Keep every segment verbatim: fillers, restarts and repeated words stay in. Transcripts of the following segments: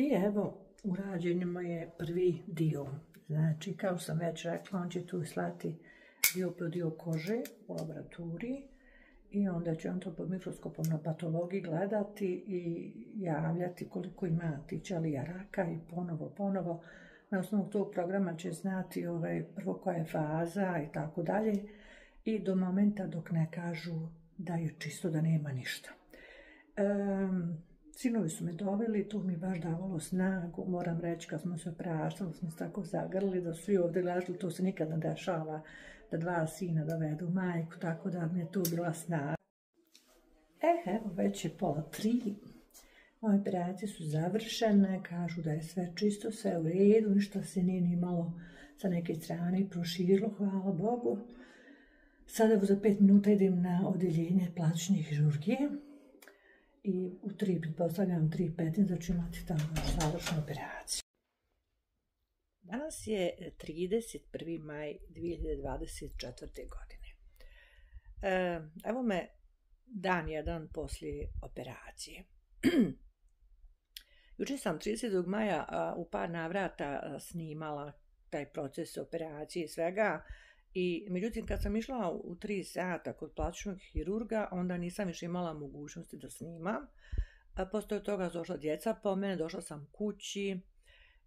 I evo, urađen je prvi dio. Znači, kao sam već rekla, on će tu slati dio po dio kože u laboratoriji i onda će on to pod mikroskopom na patologiji gledati i javljati koliko ima tih ćelija raka i ponovo, ponovo. Na osnovu tog programa će znati ovaj, prvo koja je faza i tako dalje i do momenta dok ne kažu da je čisto, da nema ništa. Um, Sinovi su me doveli, to mi je baš davalo snagu, moram reći, kad smo se praštali, smo se tako zagrli da su svi ovdje gledali, to se nikad ne dešava, da dva sina dovedu majku, tako da mi je tu bila snaga. E, evo, već je pola tri, moje operacije su završene, kažu da je sve čisto, sve u redu, ništa se nije ni malo sa neke strane proširilo, hvala Bogu. Sada za pet minuta idem na odjeljenje plastične hirurgije. I u tri, pretpostavljam, tri petnaest, da ću imati tamo završnu operaciju. Danas je trideset prvi maj dvije hiljade dvadeset četvrte. godine. E, evo me dan jedan poslije operacije. Jučer sam tridesetog maja a, u par navrata snimala taj proces operacije i svega. I međutim, kad sam išla u tri sata kod plastičnog hirurga, onda nisam više imala mogućnosti da snimam. Poslije toga došla djeca po mene, došla sam kući.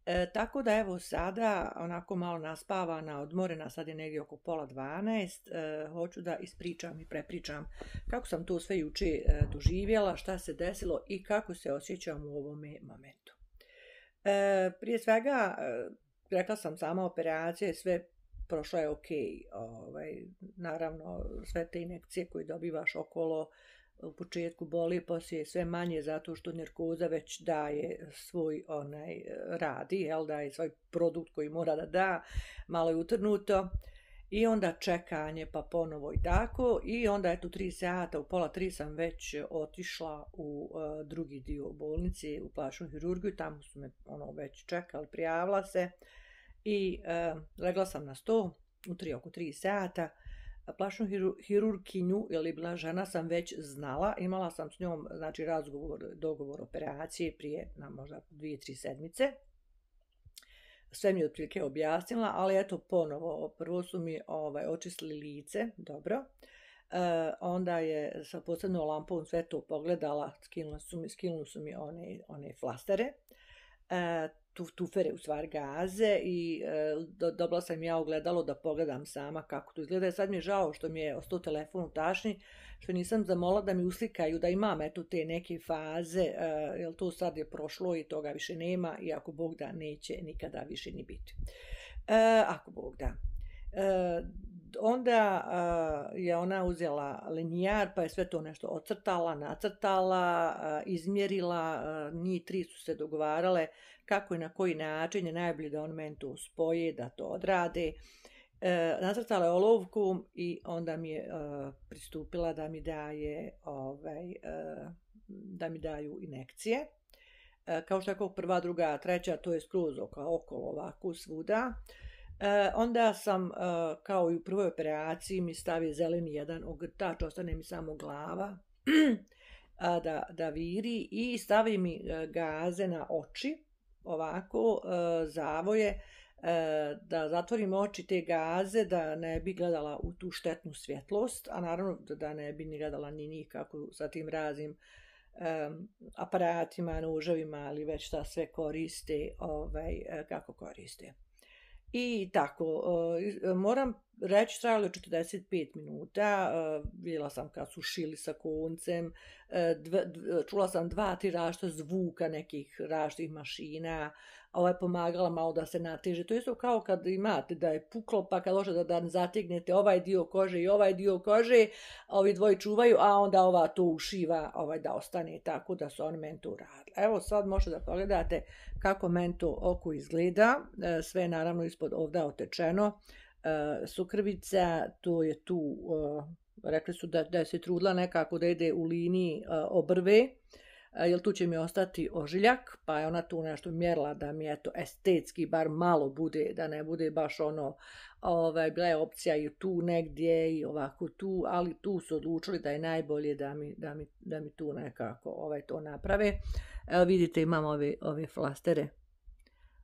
E, tako da evo sada, onako malo naspavana, odmorena, sad je negdje oko pola dvanaest, e, hoću da ispričam i prepričam kako sam to sve juče e, doživjela, šta se desilo i kako se osjećam u ovome momentu. E, prije svega, e, rekla sam sama operacija, sve prošlo je ok, ovaj, naravno sve te injekcije koje dobivaš okolo u početku boli, poslije sve manje zato što narkoza već daje svoj onaj radi, jel, daje svoj produkt koji mora da da, malo je utrnuto i onda čekanje pa ponovo i tako i onda eto tri sata, u pola tri sam već otišla u uh, drugi dio bolnice, u plastičnu hirurgiju, tamo su me ono već čekali, prijavila se. I e, legla sam na sto u tri, oko tri sata. Plastičnu hirurginju, jer je bila žena, sam već znala. Imala sam s njom, znači, razgovor, dogovor operacije prije na možda dvije, tri sedmice. Sve mi je otprilike objasnila, ali eto ponovo, prvo su mi ovaj, očistili lice, dobro. E, onda je sa posebnom lampom sve to pogledala, skinuli su mi, skinuli su mi one, one flastere. E, tufere, u stvari gaze i e, do, dobila sam ja ogledalo da pogledam sama kako to izgleda. Sad mi je žao što mi je ostao telefon u tašni, što nisam zamolila da mi uslikaju da imam eto te neke faze, e, jer to sad je prošlo i toga više nema i ako Bog da neće nikada više ni biti. E, ako Bog da. E, onda uh, je ona uzela linijar pa je sve to nešto ocrtala, nacrtala, uh, izmjerila, uh, njih tri su se dogovarale kako i na koji način je najbolje da on meni to spoje, da to odrade. Uh, nacrtala je olovku i onda mi je uh, pristupila da mi daje ovaj, uh, da mi daju injekcije. Uh, kao što je prva, druga, treća, to je skroz okolo ovako svuda. E, onda sam, e, kao i u prvoj operaciji, mi stavi zeleni jedan ogrtač, ostane mi samo glava da, da viri i stavi mi gaze na oči, ovako, e, zavoje, e, da zatvorim oči te gaze, da ne bi gledala u tu štetnu svjetlost, a naravno da ne bi ni gledala ni nikako sa tim raznim um, aparatima, noževima, ali već šta sve koriste, ovaj, kako koriste. I tako, uh, moram reći, trajalo je četrdeset pet minuta, uh, vidjela sam kad su šili sa koncem, uh, dv, dv, čula sam dva, tri različita zvuka nekih različitih mašina, ovaj pomagala malo da se nateže. To je isto kao kad imate da je puklo, pa kad dođe da, da zategnete ovaj dio kože i ovaj dio kože, ovi dvoji čuvaju, a onda ova to ušiva ovaj, da ostane, tako da su oni meni to radili. Evo sad možete da pogledate kako meni to oko izgleda, sve je naravno ispod ovdje otečeno, sukrvica, to je tu, rekli su da, da se trudila nekako da ide u liniji obrve, jer tu će mi ostati ožiljak, pa je ona tu nešto mjerila da mi eto estetski bar malo bude, da ne bude baš ono, ovaj, bila je opcija i tu negdje i ovako tu, ali tu su odlučili da je najbolje da mi, da mi, da mi tu nekako ovaj, to naprave. Evo vidite, imam ove, ove flastere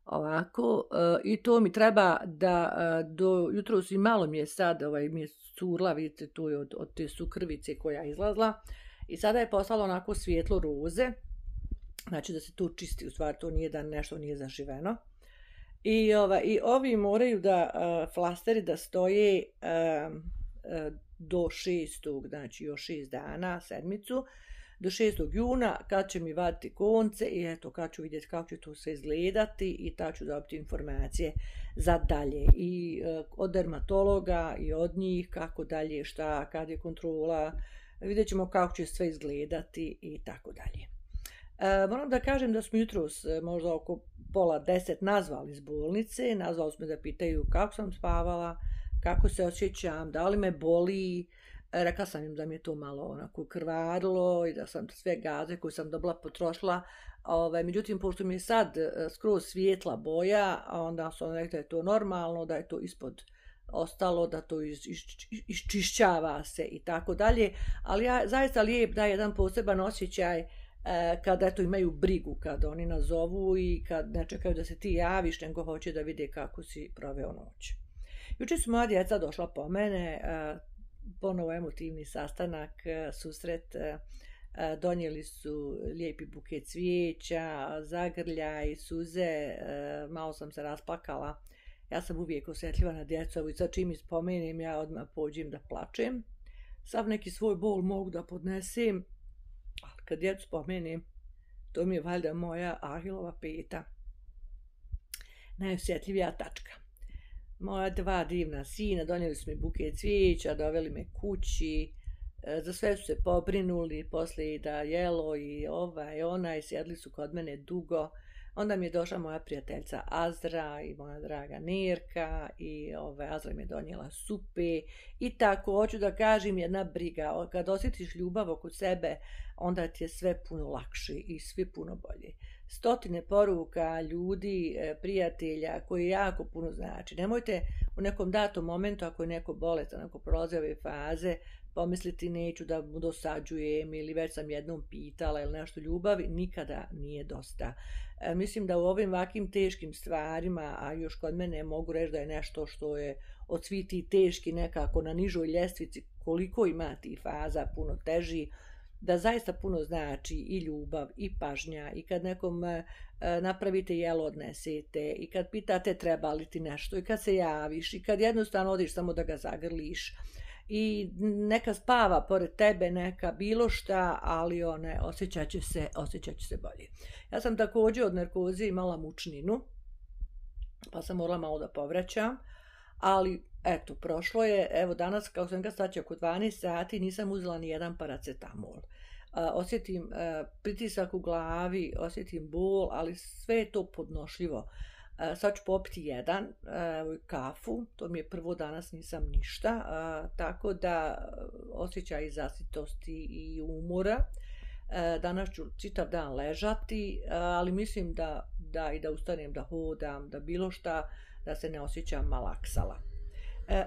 ovako, i to mi treba da do jutros i malo mi je sad, ovaj, mi je curla, vidite tu je od, od te sukrvice koja je izlazla, i sada je postalo onako svijetlo roze, znači da se to čisti, u stvari to nije da nešto nije zaživeno. I, ova, i ovi moraju da, uh, flasteri da stoje uh, uh, do šestog, znači još šest dana, sedmicu, do šestog juna, kad će mi vaditi konce i eto kad ću vidjeti kako će to sve izgledati i tad ću dobiti informacije za dalje. I uh, od dermatologa i od njih kako dalje, šta, kad je kontrola, vidjet ćemo kako će sve izgledati i tako dalje. E, moram da kažem da smo jutros možda oko pola deset nazvali iz bolnice, nazvali smo da pitaju kako sam spavala, kako se osjećam, da li me boli. E, rekla sam im da mi je to malo onako krvarilo i da sam sve gaze koje sam dobila potrošila. Ove, međutim, pošto mi je sad skroz svijetla boja, onda sam rekla da je to normalno, da je to ispod ostalo, da to iš, iš, iščišćava se i tako dalje, ali ja zaista lijep da je jedan poseban osjećaj e, kada eto imaju brigu, kad oni nazovu i kad ne čekaju da se ti javiš, nego hoće da vide kako si proveo noć. Jučer su moja djeca došla po mene, e, ponovo emotivni sastanak, e, susret, e, donijeli su lijepi buket cvijeća, zagrljaj, suze, e, malo sam se rasplakala. Ja sam uvijek osjetljiva na djecu i sad čim ispomenem ja odmah pođem da plačem. Sav neki svoj bol mogu da podnesem, ali kad djecu spomenem, to mi je valjda moja Ahilova peta. Najosjetljivija tačka. Moja dva divna sina donijeli su mi buket cvijeća, doveli me kući, za sve su se pobrinuli, poslije da jelo i ovaj i onaj, sjedli su kod mene dugo. Onda mi je došla moja prijateljica Azra i moja draga Nerka i ove, Azra mi je donijela supe i tako, hoću da kažem, jedna briga. Kad osjetiš ljubav oko sebe, onda ti je sve puno lakše i sve puno bolje. Stotine poruka, ljudi, prijatelja koji jako puno znači. Nemojte u nekom datom momentu, ako je neko bolestan, ako prolaze ove faze, pomisliti neću da mu dosađujem ili već sam jednom pitala ili nešto, ljubavi nikada nije dosta. E, mislim da u ovim ovakvim teškim stvarima, a još kod mene mogu reći da je nešto što je od svih tih teški nekako na nižoj ljestvici, koliko ima tih faza puno teži, da zaista puno znači i ljubav i pažnja i kad nekom e, napravite jelo odnesete i kad pitate treba li ti nešto i kad se javiš i kad jednostavno odiš samo da ga zagrliš i neka spava pored tebe, neka bilo šta, ali one osjećat će se, osjećat će se bolje. Ja sam također od narkoze imala mučninu, pa sam morala malo da povraćam, ali eto, prošlo je, evo danas, kako sam ga staći oko dvanaest sati, nisam uzela ni jedan paracetamol. Osjetim pritisak u glavi, osjetim bol, ali sve je to podnošljivo. Sad ću popiti jedan, kafu, to mi je prvo, danas nisam ništa, tako da osjećaj zasitosti i umora. Danas ću čitav dan ležati, ali mislim da, da i da ustanem, da hodam, da bilo šta, da se ne osjećam malaksala.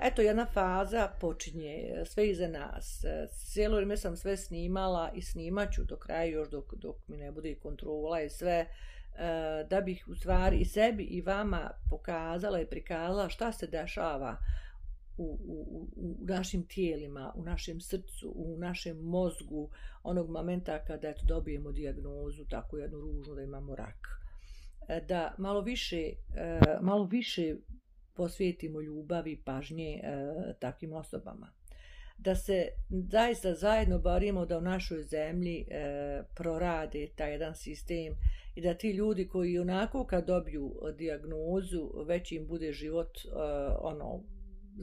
Eto, jedna faza počinje, sve iza nas. Cijelo vrijeme sam sve snimala i snimat ću do kraja još dok, dok mi ne bude kontrola i sve, da bih u stvari i sebi i vama pokazala i prikazala šta se dešava u, u, u našim tijelima, u našem srcu, u našem mozgu, onog momenta kada eto, dobijemo dijagnozu, tako jednu ružnu da imamo rak. Da malo više, malo više posvetimo ljubavi, pažnje takvim osobama. Da se zaista zajedno borimo da u našoj zemlji e, prorade taj jedan sistem i da ti ljudi koji onako kad dobiju dijagnozu već im bude život e, ono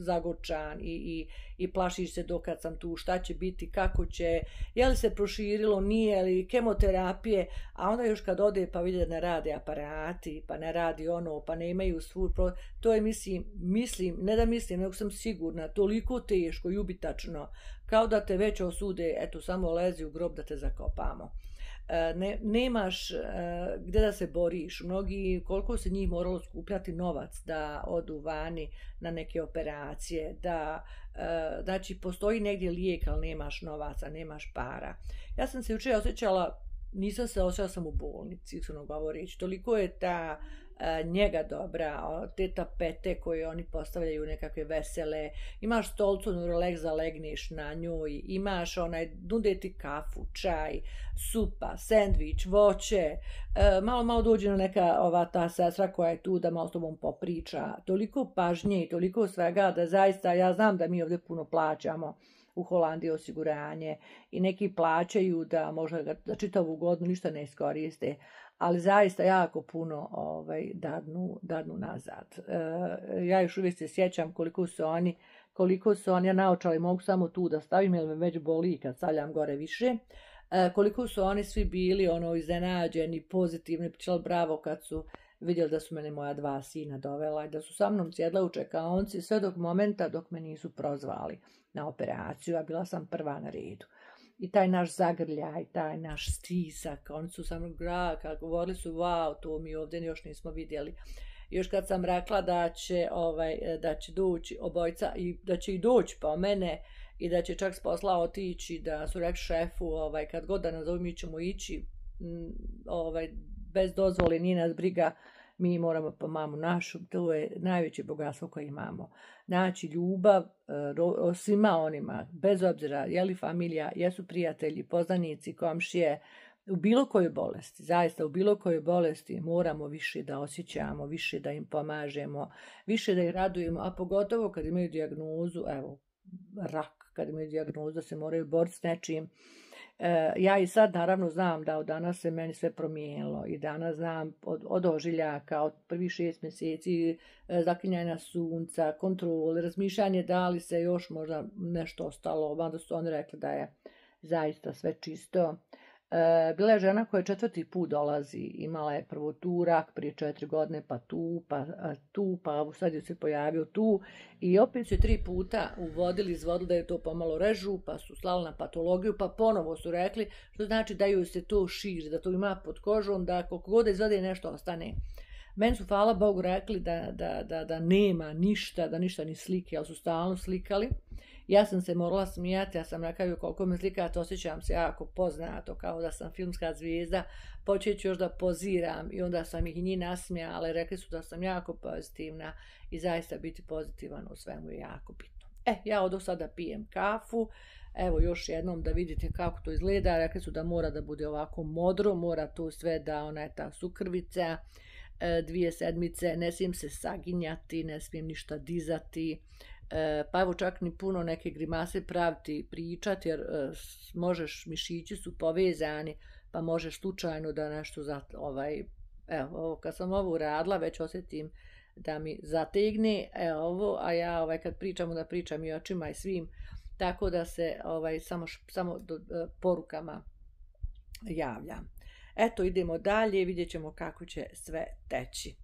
zagorčan i, i, i plašiš se dokad sam tu, šta će biti, kako će, je li se proširilo, nije li, kemoterapije, a onda još kad ode pa vide da ne rade aparati, pa ne radi ono, pa ne imaju svu, to je mislim, mislim, ne da mislim, nego sam sigurna, toliko teško i ubitačno, kao da te već osude, eto samo lezi u grob da te zakopamo. ne, nemaš gdje da se boriš. Mnogi, koliko se njih moralo skupljati novac da odu vani na neke operacije, da, znači, postoji negdje lijek, ali nemaš novaca, nemaš para. Ja sam se jučer osjećala, nisam se osjećala sam u bolnici, iskreno govoreći, toliko je ta njega dobra, te tapete koje oni postavljaju nekakve vesele, imaš stolcu Nurlex da legneš na njoj, imaš onaj, nude ti kafu, čaj, supa, sendvič, voće, malo malo dođe na neka ova ta sestra koja je tu da malo s tobom popriča, toliko pažnje i toliko svega da zaista, ja znam da mi ovdje puno plaćamo u Holandiji osiguranje i neki plaćaju da možda ga za čitavu godinu ništa ne iskoriste, ali zaista jako puno ovaj, dadnu, dadnu nazad. E, ja još uvijek se sjećam koliko su oni, koliko su oni, ja naočali mogu samo tu da stavim jer me već boli kad stavljam gore više, e, koliko su oni svi bili ono iznenađeni, pozitivni, pričali bravo kad su vidjeli da su mene moja dva sina dovela i da su sa mnom sjedla u čekaonici sve dok momenta dok me nisu prozvali na operaciju, a bila sam prva na redu. I taj naš zagrljaj, taj naš stisak, oni su samo graka, govorili su, wow, to mi ovdje još nismo vidjeli. Još kad sam rekla da će, ovaj, da će doći obojca i da će i doći po mene i da će čak s posla otići, da su rekli šefu, ovaj, kad god da nazovu mi ćemo ići, ovaj, bez dozvole, nije nas briga, mi moramo po mamu našu, to je najveće bogatstvo koje imamo. Znači, ljubav o svima onima, bez obzira je li familija, jesu prijatelji, poznanici, komšije, u bilo kojoj bolesti, zaista u bilo kojoj bolesti moramo više da osjećamo, više da im pomažemo, više da ih radujemo, a pogotovo kad imaju dijagnozu, evo, rak, kad imaju dijagnozu da se moraju boriti s nečim. E, ja i sad naravno znam da od danas se meni sve promijenilo i danas znam od, od ožiljaka, od prvih šest mjeseci, e, zaklinjanja sunca, kontrole, razmišljanje da li se još možda nešto ostalo, onda su oni rekli da je zaista sve čisto. E, bila je žena koja četvrti put dolazi, imala je prvo tu rak prije četiri godine, pa tu, pa tu, pa sad je se pojavio tu i opet su tri puta uvodili, izvodili da je to pomalo režu, pa su slali na patologiju, pa ponovo su rekli, što znači da ju se to širi, da to ima pod kožom, da koliko god izvode nešto ostane. Meni su, hvala Bogu, rekli da, da, da, da nema ništa, da ništa ni slike, ali su stalno slikali. Ja sam se morala smijati, ja sam rekao koliko me slikate, osjećam se jako poznato, kao da sam filmska zvijezda, počet ću još da poziram i onda sam ih i njih nasmijala, ali rekli su da sam jako pozitivna i zaista biti pozitivan u svemu je jako bitno. E, ja od sada pijem kafu, evo još jednom da vidite kako to izgleda, rekli su da mora da bude ovako modro, mora to sve da ona je ta sukrvica, dvije sedmice, ne smijem se saginjati, ne smijem ništa dizati, pa evo čak ni puno neke grimase praviti, pričati, jer možeš, mišići su povezani, pa možeš slučajno da nešto, za, ovaj, evo, kad sam ovo uradila, već osjetim da mi zategne, evo ovo, a ja ovaj, kad pričam, da pričam i očima i svim, tako da se ovaj, samo, samo do, porukama javljam. Eto, idemo dalje, vidjet ćemo kako će sve teći.